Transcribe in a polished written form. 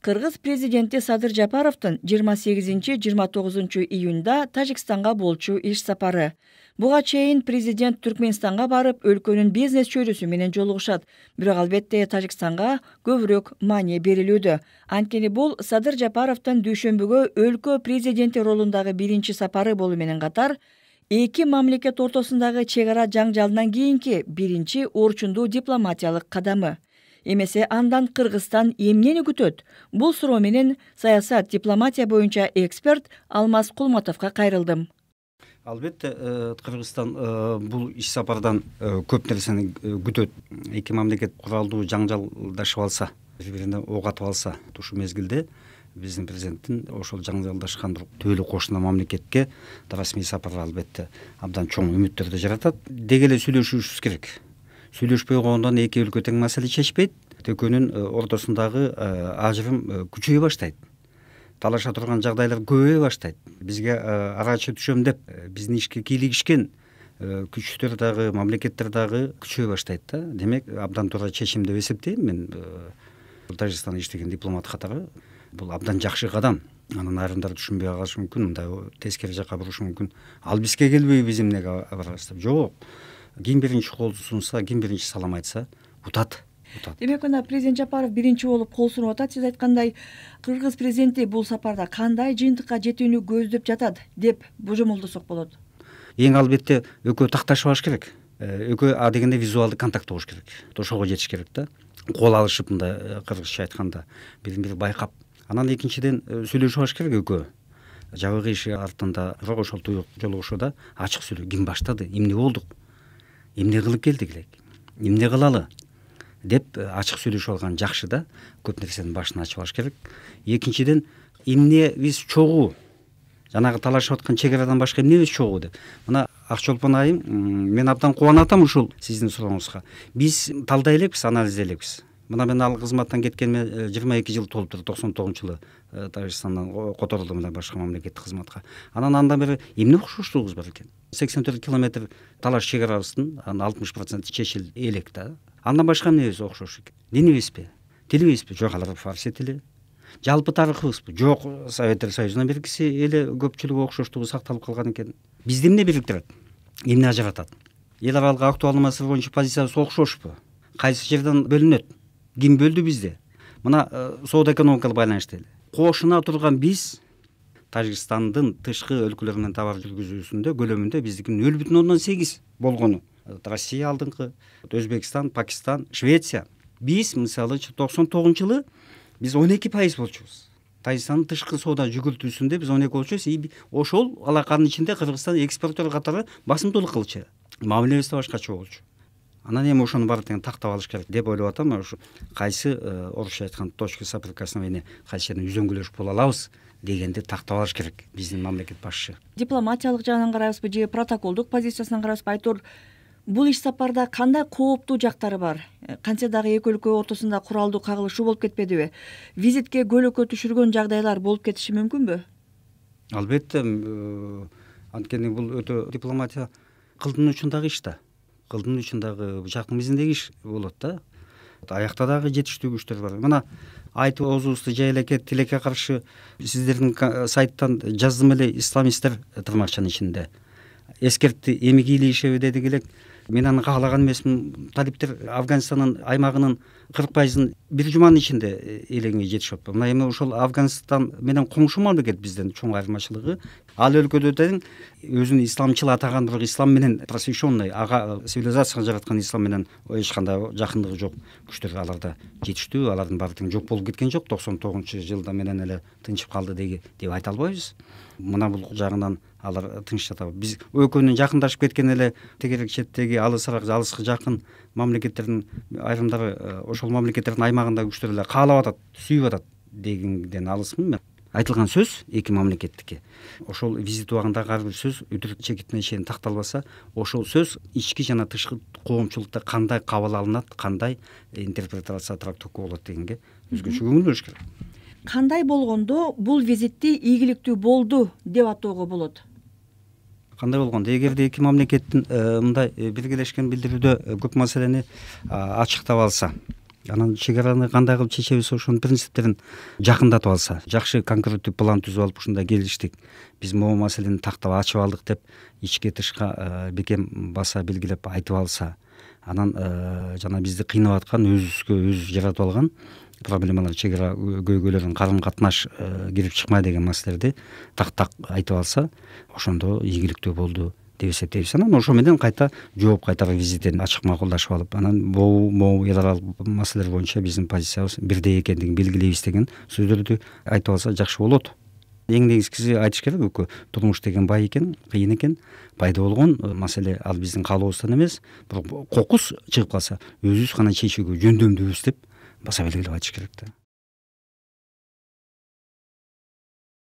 Кыргыз президенти Садыр Жапаровдун 28-29 июнда Тажикстанга болчу иш сапары. Буга чейин президент Түркменистанга барып, өлкөнүн бизнес чөйрөсү менен жолугушат. Бирок албетте Тажикстанга көбүрөөк маани берилүүдө. Анткени бул Садыр Жапаровдун дүйшөмбүгө өлкө президенти ролундагы биринчи сапары болуу менен катар, эки мамлекет ортосундагы чек ара жаңжалынан кийинки биринчи орчундуу дипломатиялык кадамы. Эмесе андан Кыргызстан эмнени күтөт? Бул суроо менен саясат дипломатия боюнча эксперт Алмаз Кулматовго кайрылдым. Албетте, Кыргызстан бул иш сапардан көп нерсени күтөт. Эки мамлекет куралдуу жаңжалдашып алса, бири-бирине ок атып алса, ушул мезгилде биздин президенттин ошол жаңжалдашкан түбөлүк кошуна мамлекетке расмий сапары албетте абдан чоң үмүттөрдү жаратат. Деги эле сүйлөшүшүбүз керек. Сүйлөшпөй койгондон эки өлкө тең маселе чечпейт. Экөөнүн ортосундагы ажырым күчөйө баштайт. Талаша турган жагдайлар көбөйө баштайт. Бизге арачы түшөм деп биздин ишке кийлигишкен күчтөр дагы, мамлекеттер дагы күчөйө баштайт да. Демек, абдан туура чечим деп эсептейм мен. Тажикстанда иштеген дипломат катары бул абдан жакшы кадам. Анын айрымдары түшүнбөй калышы мүмкүн, мындай тескери жакка бурушу мүмкүн. Ал бизге келбей биз эмнеге барабыз деп. Жок. Ким биринчи кол сунса, ким биринчи салам айтса, утат. Демек, мына президент Жапаров биринчи болуп кол сунуп атат. Сиз айткандай, Кыргыз президенти бул сапарда кандай жыйынтыкка жетүүнү көздөп жатат деп божомолдосок болот? Эң албетте экөө такташып алыш керек. Экөө дегенде визуалдык контакт болуш керек. Ошого жетиш керек да. Кол алышып, мындай кыргызча айтканда, бирин-бири байкап. Анан экинчиден сүйлөшүп алыш керек экөө. Жабык иши артында, бирок ошол туюк жолугушууда ачык сүйлөп, ким баштады, эмне болдук, эмне кылып келдик элек, эмне кылалы деп ачык сүйлөшүп алган жакшы да. Көп нерсенин башын ачып алыш керек. Экинчиден, эмне биз чогуу, жанагы талашып аткан чек арадан башка эмне биз чогуу деп. Мына Акчолпон айым, мен абдан кубанып атам ушул сиздин сурооңузга. Биз талдай элекпиз, анализдей элекпиз. Мына мен ал кызматтан кеткениме 22 жыл толуптур. 99-жылы Тажикстандан которулдум мына башка мамлекеттик кызматка. Андан бери эмне окшоштугубуз бар экен? 84 километр талаш чек арабыздын 60% чечил элек да. Андан башка эмнебиз окшош экен? Динибизби? Тилибизби? Жок, алар фарси тили. Жалпы тарыхыбызбы? Жок, Советтер Союзунан бергиси эле көпчүлүгү окшоштугу сакталып калган экен. Бизди эмне бириктирет? Эмне ажыратат? Эл аралык актуалдуу маселе боюнча позициябыз окшошпу? Кайсы жерден бөлүнөт? Ким бөлдү бизди? Мына соода экономикалык байланышты эле. Кошуна турган биз Тажикстандын тышкы өлкөлөр менен товар жүргүзүүсүндө көлөмүндө биздикинин 0,8 болгону. Россия алдыңкы, Өзбекстан, Пакистан, Швеция. Биз мисалы 99-жылы биз 12% болчубуз. Тажикстандын тышкы соода жүгүртүүсүндө биз 12 болчубуз. Ошол алаканын ичинде Кыргызстан экспортер катары басымдуулук кылчу. Мамилебиз да башкача болчу. Анан эми ошону баары тең тактап алыш керек деп ойлоп атам. Ушу кайсы орусча айткан точка соприкосновения, кайсы жерден үзөңгүлөшүп боло алабыз дегенди тактап алыш керек биздин мамлекет башчы. Дипломатиялык жагынан карайбызбы же протоколдук позициясынан карайбызбы? Айтор, бул иш сапарда кандай кооптуу жактары бар? Кантсе дагы эки өлкө ортосунда куралдуу кагылышуу болуп кетпедиби? Визитке көөлөккө түшүргөн жагдайлар болуп кетиши мүмкүнбү? Албетте, анткени бул өтө дипломатия кылдын учундагы иш да. Кылдын учундагы бычактын мизиндеги иш болот да. Аякта дагы жетиштүү күчтөр бар. Мына айтып оозубузду жай элеке тилекке каршы сиздердин сайттан жаздым эле, исламисттер тырмакчанын ичинде эскертти, эми кийлигишеби дедик элек. Мен аны каалаган эмесмин. Талиптер Афганистандын аймагынын 40%-ын бир жуманын ичинде элеңе жетишип атпайбы. Мына эми ошол Афганистан менен коңшу мамлекет бизден чоң айырмачылыгы. Ал өлкөдө тең өзүн исламчыл атаган, бирок ислам менен просвещенный, ага цивилизацияга жараткан ислам менен эч кандай жакындыгы жок күчтөр аларда жетиштүү. Алардын баары тең жок болуп кеткен жок. 99-жылда менен эле тынчып калды деп айта албайбыз. Мына бул жагынан алар тынч жатабы. Биз экөөнүн жакындашып кеткен эле тегерек четтеги алысыраак, алыска жакын мамлекеттердин айрымдары ошол мамлекеттердин аймагындагы күчтөр эле каалап атат, сүйүп атат дегенден алысмын мен. Айтылган сөз эки мамлекеттики. Ошол визит убагында ар бир сөз үтүрүк чекитине чейин такталбаса, ошол сөз ички жана тышкы коомчулукта кандай кабыл алынат, кандай интерпретация трактовка болот дегенге өзгөчө көңүл буруш керек. Кандай болгондо бул визитти ийгиликтүү болду деп атоого болот? Кандай болгондо, эгерде эки мамлекеттин мындай биргелешкен билдирүүдө көп маселени ачыктап алса, Анан чек араны кандай кылып чечебиз, ошонун принциптерин жакындатып алса, жакшы конкреттүү план түзүп алып ушундай келиштик, биз могу маселени тактап ачып алдык деп ичке тышка бекем баса белгилеп айтып алса, анан жана бизди кыйнап аткан, өзүбүзгө өзүбүз жаратып алган проблемалар, чек ара көйгөйлөрүн карым катнаш кирип чыкмай деген маселелерди так айтып алса, ошондо ийгиликтүү болду деп эсептейбиз. Анан ошо менен кайта жооп кайтарып визитин ачык макулдашып алып, анан могу эл аралык маселелер боюнча биздин позициябыз бирдей экендигин белгилейбиз деген сөздөрдү айтып алса жакшы болот. Эң негизгиси айтыш керек, экөө турмуш деген бай экен, кыйын экен. Пайда болгон маселе ал биздин каалообуздан эмес, бирок кокус чыгып калса өзүбүз гана чечүүгө жөндөмдүүбүз деп баса белгилеп айтыш керек да.